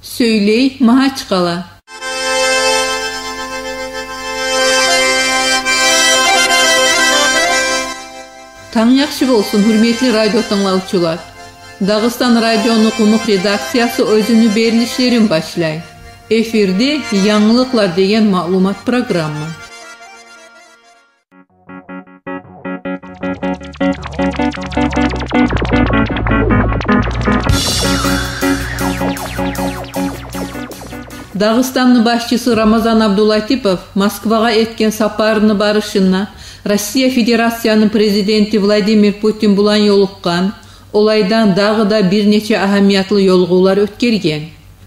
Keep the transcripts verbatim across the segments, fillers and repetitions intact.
Сёйлей Магьачкъала. Танг яхшы болсун, гьюрметли радио тынглавчулар. Дагъыстан радиону къумукъ редакциясы оьзюню берилишлерин башлай. Эфирде «Янгылыкълар» деген маълумат программа. Дагъыстанны башчысы Рамазан Абдулатипов Москвагъа этген сапарыны барышында Россия Федерацияны Президенти Владимир Путин булан ёлукъгъан, олайдан дагъы да бир нече агьамиятлы ёлугъувлар оьтгерген.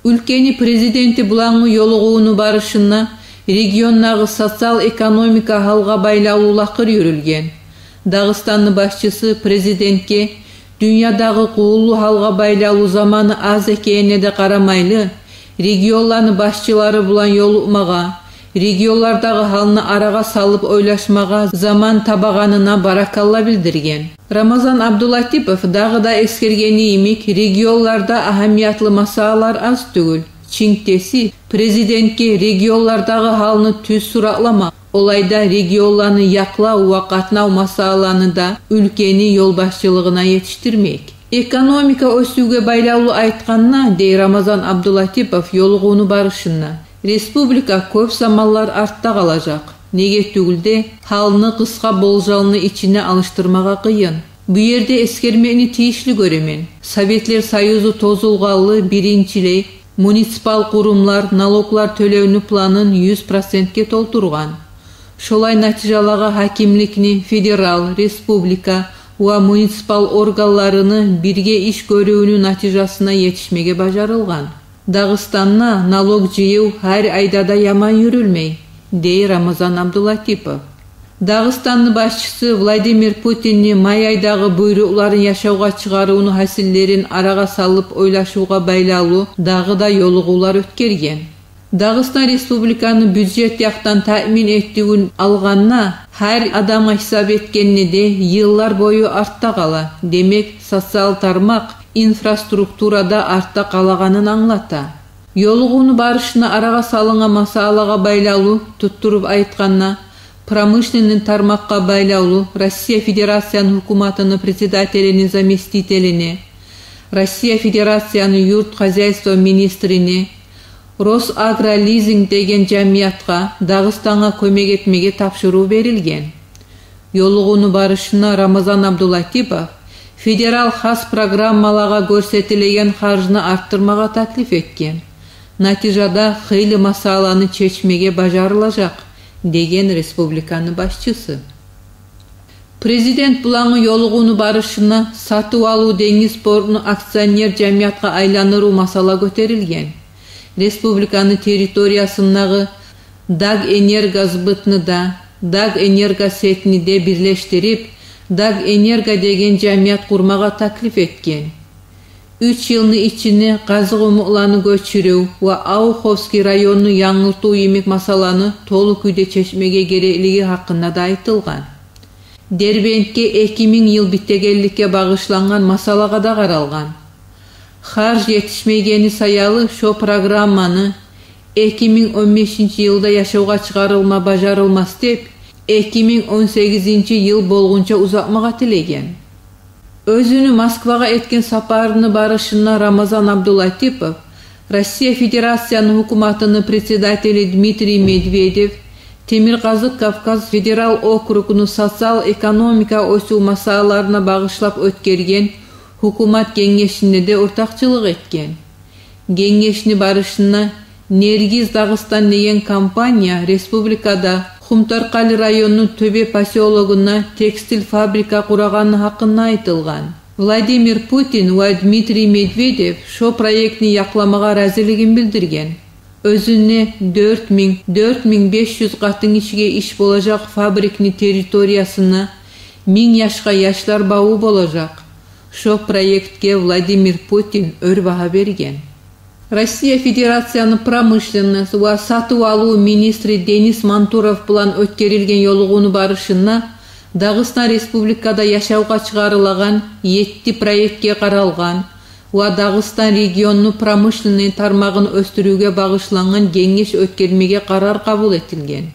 Уьлкени Президенти булангъы ёлугъувуну барышында региондагъы социал-экономика гьалгъа байлавлу лакъыр юрюлген. Дагъыстанны башчысы Президентге дюньядагъы къувуллу гьалгъа байлавлу заманы аз экенине де къарамайлы, регионланы башчылары булан ёлукъмагъа, регионлардагъы гьалны арагъа салып ойлашмагъа заман табагъанына баракалла билдирген. Рамазан Абдулатипов дагъы да эсгергени йимик, регионларда агьамиятлы масъалалар аз тюгюл. Чинктеси, Президентге регионлардагъы гьалны тюз суратлама, олайда регионланы якълав ва къатнав масъалаланы да уьлкени ёлбашчылыгъына етишдирмек. Экономика оьсювге байлавлу айтгъанда, дей Рамазан Абдулатипов ёлугъувну барышында, республика кёп заманлар артда къалажакъ. Неге тюгюл де, гьалны къысгъа болжалны ичине алышдырмагъа къыйын. Бу ерде эсгермекни тийишли гёремен: Советлер Союзу тозулгъанлы биринчилей муниципал къурумлар налоглар тёлевню планын юз процентге толтургъан. Шолай натижалагъа гьакимликни федерал, республика ва муниципал органларыны бирге иш гёрювню натижасына етишмеге бажарылгъан. Дагъыстанда налог жыйыв гьар айда да яман юрюлмей, дей Рамазан Абдулатипов. Дагъыстанны башчысы Владимир Путинни май айдагъы буйрукъларын яшавгъа чыгъарывну гьасиллерин арагъа салып ойлашывгъа байлавлу дагъы да ёлугъувлар оьтгерген. Дагъыстан республиканы бюджет якъдан таъмин этивин алгъанда, гьар адамгъа гьисап этгенде де, йыллар бою артда къала. Демек, социал тармакъ, инфраструктура да артда къалагъанын англата. Ёлугъувну барышында арагъа салынгъан масъалагъа байлавлу, туттуруп айтгъанда, промышленный тармакъгъа байлавлу Россия Федерацияны гьукуматыны председателини заместителине, Россия Федерацияны юрт хозяйство министрине, «Росагролизинг» деген жамиятгъа Дагъыстангъа кёмек этмеге тапшурыв берилген. Ёлугъувну барышында Рамазан Абдулатипов федерал хас программалагъа гёрсетилеген харжны артдырмагъа таклиф этген. Натижада хыйлы масъаланы чечмеге бажарылажакъ, деген республиканы башчысы. Президент булангъы ёлугъувну барышында сатыв-алыв денгиз портну акционер жамиятгъа айландырыв масъала гётерилген. Республиканы территориясындагъы «Дагэнергосбытны» да, «Дагэнергосетьни» де бирлешдирип, «Дагэнерго» деген жамият къурмагъа таклиф этген. Уьч йылны ичинде къазыкъумукъланы гёчюрюв ва Ауховский районну янгыртыв йимик масъаланы толу кюйде чечмеге гереклиги гьакъында да айтылгъан. Дербентге эки минг йыл битегенликге багъышлангъан масъалагъа да къаралгъан. Харж етишмейгени саялы шо программаны эки минг он бешинчи йылда яшавгъа чыгъарылма бажарылмас деп, эки минг он сегизинчи йыл болгъунча узатмагъа тилеген. Оьзюню Москвагъа этген сапарыны барышында Рамазан Абдулатипов Россия Федерацияны гьукуматыны председатели Дмитрий Медведев Темиркъазыкъ Кавказ федерал округну социал-экономика оьсюв масъалаларына багъышлап оьтгерген гьукумат генгешинде де ортакъчылыкъ этген. Генгешни барышында «Нергиз Дагъыстан» деген компания республикада Хумторкъали районну Тёбе посёлогунда текстиль фабрика къурагъаны гьакъында айтылгъан. Владимир Путин ва Дмитрий Медведев шо проектни якъламагъа разилигин билдирген. Оьзюнде дёрт минг, дёрт минг беш юз къатынгишиге иш болажакъ фабрикни территориясына минг яшгъа яшлар баву болажакъ. Шо проектге Владимир Путин оьр багьа берген. Россия Федерацияны промышленность ва сатыв-алыв министри Денис Мантуров булан оьтгерилген ёлугъувну барышында Дагъыстан Республикада яшавгъа чыгъарылагъан етти проектге къаралгъан, ва Дагъыстан регионну промышленный тармагъын оьсдюрювге багъышлангъан генгеш оьтгермеге къарар къабул этилген.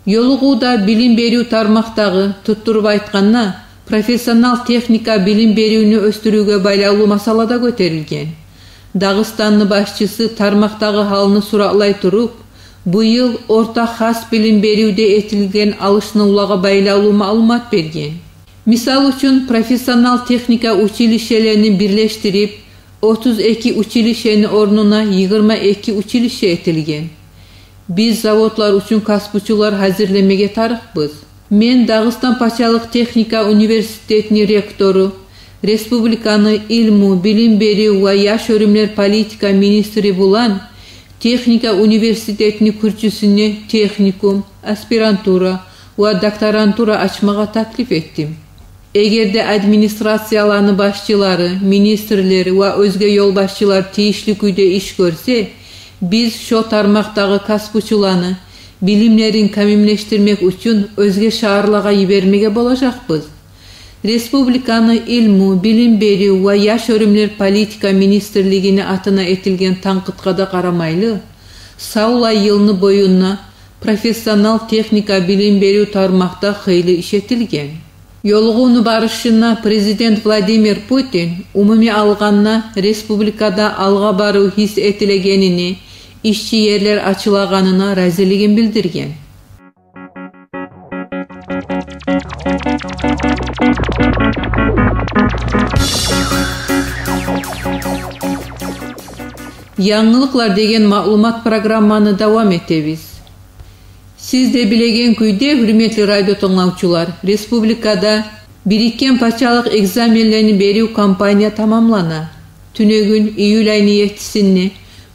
Ёлугъувда билим берив тармакъдагъы, туттуруп айтгъанда, профессионал-техника билим беривню оьсдюрювге байлавлу масъала да гётерилген. Дагъыстанны башчысы тармакъдагъы гьалны суратлай туруп, бу йыл орта хас билим беривде этилген алышынывлагъа байлавлу маълумат берген. Мисал учун, профессионал-техника училищелерин бирлешдирип, отуз эки училищени орнуна йигирма эки училище этилген. Биз заводлар учун касбучулар гьазирлемеге тарыкъбыз. Мен Дагъыстан пачалыкъ техника университетини ректору, республиканы илму, билим берив ва яш оьрюмлер политика министри булан техника университетини кюрчюсюне техникум, аспирантура ва докторантура ачмагъа таклиф этдим. Эгер де администрацияланы башчылары, министрлер ва оьзге ёлбашчылар тийишли кюйде иш гёрсе, биз шо тармакъдагъы касбучуланы билимлерин камиллешдирмек учун оьзге шагьарлагъа йибермеге болажакъбыз. Республиканы илму, билим берив ва яш оьрюмлер политика министрлигини атына этилген танкъытгъа да къарамайлы, савлай йылны боюнда профессионал-техника билим берив тармакъда хыйлы иш этилген. Ёлугъувну барышында президент Владимир Путин, умумий алгъанда, республикада алгъа барыв гьис этилегенине, ишчи ерлер ачылагъанына разилигин билдирген. Янгылыкълар деген маълумат программаны давам этебиз. Сиз де билеген кюйде, гьюрметли радиотынглавчулар, республикада бирикген пачалыкъ экзаменлени берив кампания тамамлана. Тюнегюн, июль айны еттисинде,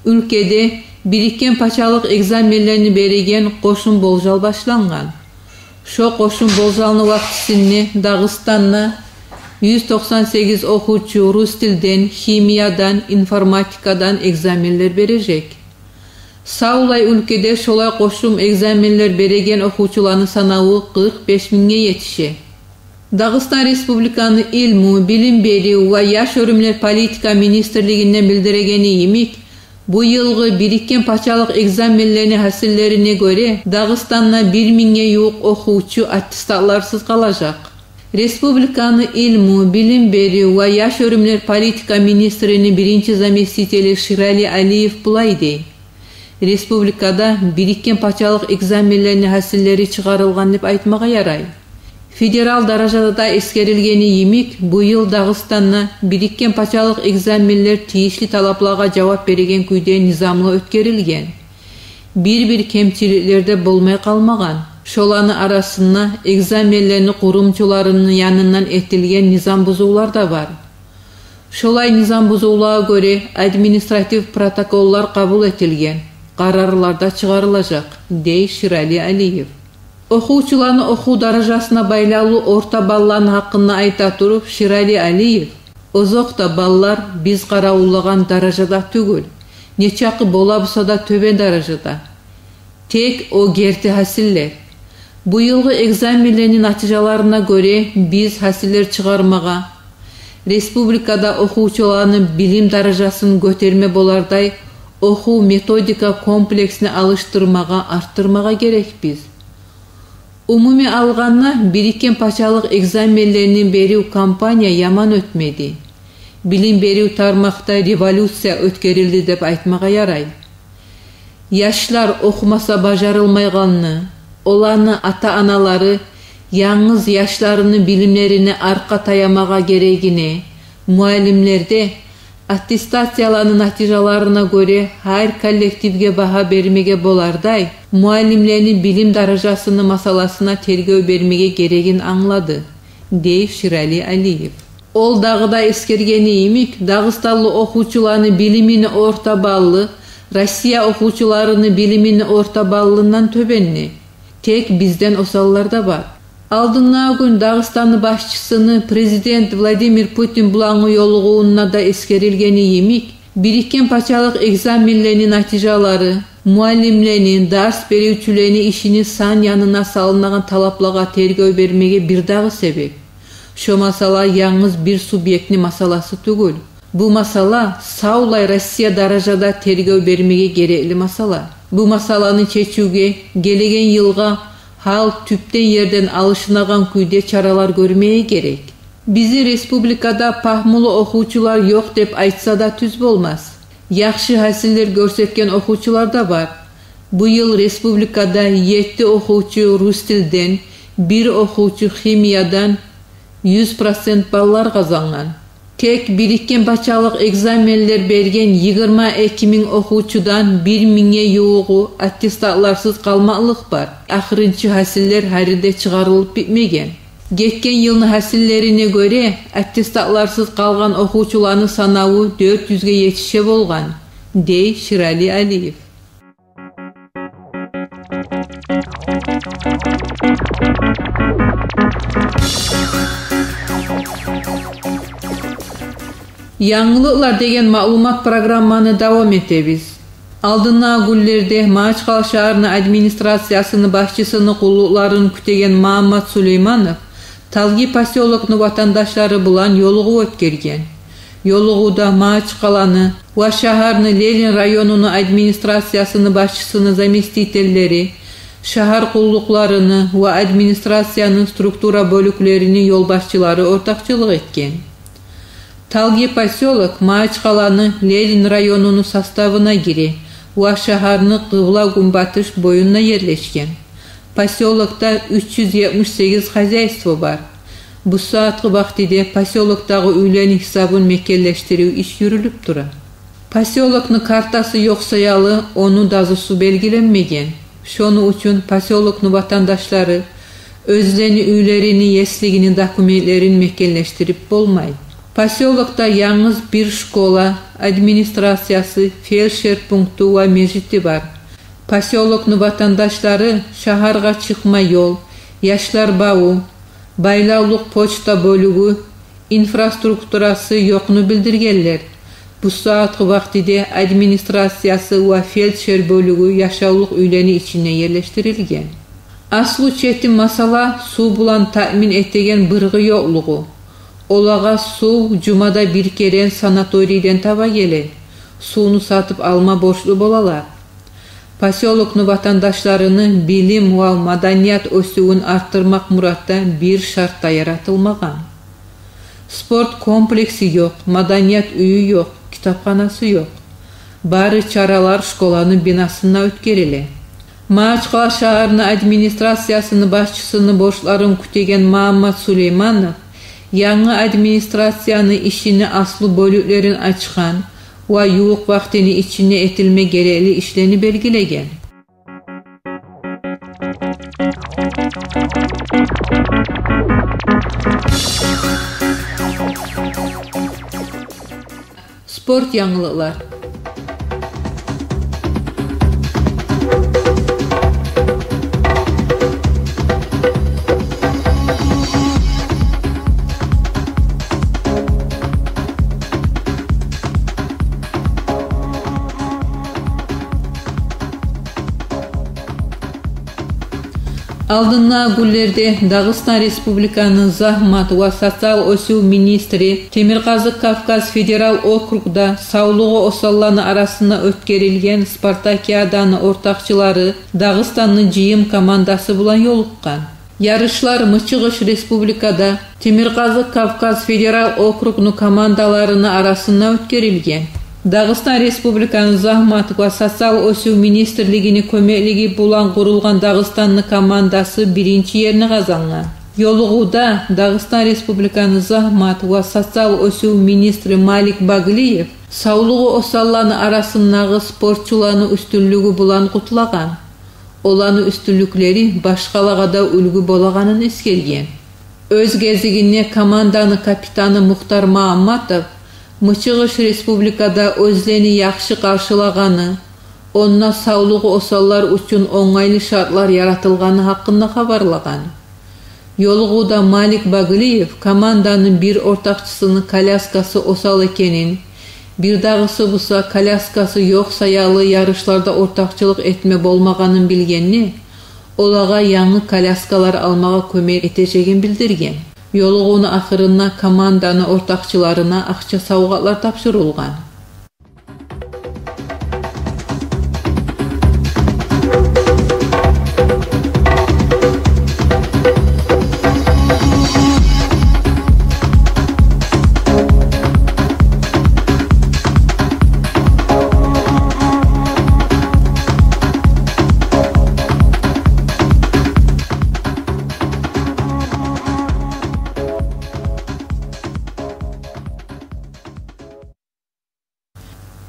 уьлкеде бирикген пачалыкъ экзаменлени береген къошум болжал башлангъан. Шо къошум болжалны вакътисинде Дагъыстанда юз токъсан сегиз охувчу рус тилден, химиядан, информатикадан экзаменлер бережек. Савлай уьлкеде шолай къошум экзаменлер береген охувчуланы санаву къыркъ беш мингге етише. Дагъыстан Республиканы илму, билим берив ва яш оьрюмлер политика министрлигинден билдирегени йимик, бу йылгъы бирикген пачалыкъ экзаменлени гьасиллерине гёре, Дагъыстанда бир мингге ювукъ охувчу аттестатларсыз къалажакъ. Республиканы илму, билим берив ва яш оьрюмлер политика министрини биринчи заместители Ширали Алиев булай дей: республикада бирикген пачалыкъ экзаменлени гьасиллери чыгъарылгъан деп айтмагъа ярай. Федерал даражада да эсгерилгени йимик, бу йыл Дагъыстанда бирикген пачалыкъ экзаменлер тийишли талаплагъа жавап береген кюйде низамлы оьтгерилген. Бир-бир кемчиликлер де болмай къалмагъан. Шоланы арасында экзаменлени къурумчуларыны янындан этилген низам бузувлар да бар. Шолай низам бузувлагъа гёре административ протоколлар къабул этилген, къарарлар да чыгъарылажакъ, дей Ширали Алиев. Охувчуланы охув даражасына байлавлу орта балланы гьакъында айта туруп, Ширали Алиев: озокъда, баллар биз къаравуллагъан даражада тюгюл, нечакъы бола буса да тёбен даражада. Тек о герти гьасиллер. Бу йылгъы экзаменлени натижаларына гёре биз гьасиллер чыгъармагъа, республикада охувчуланы билим даражасын гётерме болардай охув-методика комплексни алышдырмагъа, артдырмагъа герекбиз. Умумий алгъанда, бирикген пачалыкъ экзаменлени берив кампания яман оьтмеди. Билим берив тармакъда революция оьтгерилди деп айтмагъа ярай. Яшлар охумаса бажарылмайгъанны, оланы ата-аналары янгыз яшларыны билимлерине аркъа таямагъа герегине, муаллимлер де аттестацияланы натижаларына гёре гьар коллективге багьа бермеге болардай, муаллимлени билим даражасыны масъаласына тергев бермеге герегин англады, дей Ширали Алиев. Ол дагъы да эсгергени йимик, дагъыстанлы охувчуланы билимини орта баллы Россия охувчуларыны билимини орта баллындан тёбенни. Тек бизден осаллар да бар. Алдындагъы гюн Дагъыстанны башчысыны президент Владимир Путин булангъы ёлугъувунда да эсгерилгени йимик, бирикген пачалыкъ экзаменлени натижалары муаллимлени, дарс беривчюлени ишини сан янына салынагъан талаплагъа тергев бермеге бир дагъы себеп. Шо масъала янгыз бир субъектни масъаласы тюгюл. Бу масъала савлай Россия даражада тергев бермеге герекли масъала. Бу масъаланы чечивге гелеген йылгъа гьал тюпден ерден алышынагъан кюйде чаралар гёрмеге герек. Бизин республикада пагьмулу охувчулар ёкъ деп айтса да тюз болмас. Яхшы гьасиллер гёрсетген охувчулар да бар. Бу йыл республикада етти охувчу рус тилден, бир охувчу химиядан юз процент баллар къазангъан. Тек бирикген пачалыкъ экзаменлер берген йигирма эки минг охувчудан бир мингге ювугъу аттестатларсыз къалмакълыкъ бар. Ахырынчы гьасиллер гьари де чыгъарылып битмеген. Гетген йылны гьасиллерине гёре, аттестатларсыз къалгъан охувчуланы санаву дёрт юзге етише болгъан, дей Ширали Алиев. Янгылыкълар деген маълумат программаны давам этебиз. Алдындагъы гюнлерде Магьачкъала шагьарны администрациясыны башчысыны къуллукъларын кютеген Магьаммат Сулейманов Талги посёлокну ватандашлары булан ёлугъув оьтгерген. Ёлугъувда Магьачкъаланы ва шагьарны Ленин районуну администрациясыны башчысыны заместителлери, шагьар къуллукъларыны ва администрацияны структура бёлюклерини ёлбашчылары ортакъчылыкъ этген. Талги посёлок Магьачкъаланы Ленин районуну составына гире ва шагьарны къыбла-гюнбатыш боюнда ерлешген. Посёлокда уьч юз етмиш сегиз хозяйство бар. Бу сагьатгъы вакътиде посёлокдагъы уьйлени гьисабын мекенлешдирив иш юрюлюп тура. Посёлокну картасы ёкъ саялы, ону дазусу белгиленмеген. Шону учун посёлокну ватандашлары оьзлени уьйлерини еслигини документлерин мекенлешдирип болмай. Посёлокда янгыз бир школа, администрациясы, фельдшер пункту ва межити бар. Посёлокну ватандашлары шагьаргъа чыкъма ёл, яшлар баву, байлавлукъ почта бёлюгю, инфраструктурасы ёкъну билдиргенлер. Бу сагьатгъы вакътиде администрациясы ва фельдшер бёлюгю яшавлукъ уьйлени ичинде ерлешдирилген. Аслу четим масъала сув булан таъмин этеген быргъы ёкълугъу. Олагъа сув жумада бир керен санаторийден таба геле. Сувну сатып алма борчлу болалар. Посёлокну ватандашларыны билим ва маданият оьсювюн артдырмакъ муратда бир шарт да яратылмагъан. Спорт комплекси ёкъ, маданият уьюю ёкъ, китапханасы ёкъ. Бары чаралар школаны бинасында оьтгериле. Магьачкъала шагьарны администрациясыны башчысыны борчларын кютеген Магьаммат Сулейманов янгы администрацияны ишини аслу бёлюклерин ачгъан ва ювукъ вакътини ичинде этилме герекли ишлени белгилеген. Спорт янгылыкълар. Алдындагъы гюнлерде Дагъыстан Республиканы загьмат ва социал оьсюв министри Темиркъазыкъ Кавказ федерал округда савлугъу осалланы арасында оьтгерилген спартакиаданы ортакъчылары Дагъыстанны жыйым командасы булан ёлукъгъан. Ярышлар Мычыгъыш Республикада Темиркъазыкъ Кавказ федерал округну командаларыны арасында оьтгерилген. Дагъыстан Республиканы загьмат ва социал оьсюв министрлигини кёмеклиги булан къурулгъан Дагъыстанны командасы биринчи ерни къазангъан. Ёлугъувда Дагъыстан Республиканы загьмат ва социал оьсюв министри Малик Баглиев савлугъу осалланы арасындагъы спортчуланы уьстюнлюгю булан къутлагъан. Оланы уьстюнлюклери башгъалагъа да уьлгю болагъанын эсгерген. Оьз гезигинде команданы капитаны Мухтар Магьамматов Мычыгъыш Республикада оьзлени яхшы къаршылагъаны, онда савлугъу осаллар учун онгайлы шартлар яратылгъаны гьакъында хабарлагъан. Ёлугъувда Малик Баглиев команданы бир ортакъчысыны коляскасы осал экенин, бирдагъысы буса коляскасы ёкъ саялы ярышларда ортакъчылыкъ этме болмагъанын билгенде, олагъа янгы коляскалар алмагъа кёмек этежегин билдирген. Ёлугъувну ахырында команданы ортакъчыларына акъча савгъатлар тапшурулгъан.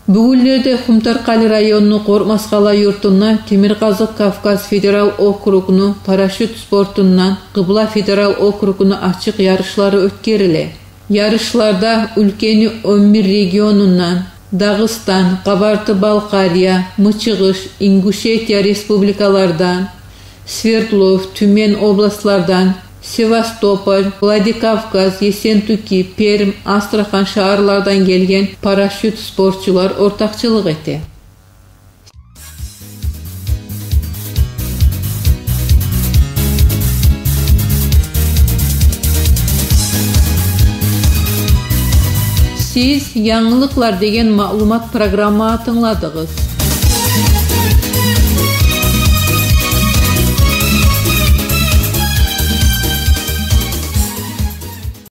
Бугюнлерде Къумторкъали районну Къоркъмаскъала юртунда Темиркъазыкъ Кавказ федерал округну парашют спортундан Къыбла федерал округну ачыкъ ярышлары оьтгериле. Ярышларда уьлкени он бир регионундан, Дагъыстан, Къабарты-Балкъария, Мычыгъыш, Ингушетия республикалардан, Свердлов, Тюмень областлардан, Севастополь, Владикавказ, Ессентуки, Пермь, Астрахань шагьарлардан гелген парашют спортчулар ортакъчылыкъ эте. Сиз «Янгылыкълар» деген маълумат программасын тынгладыгъыз.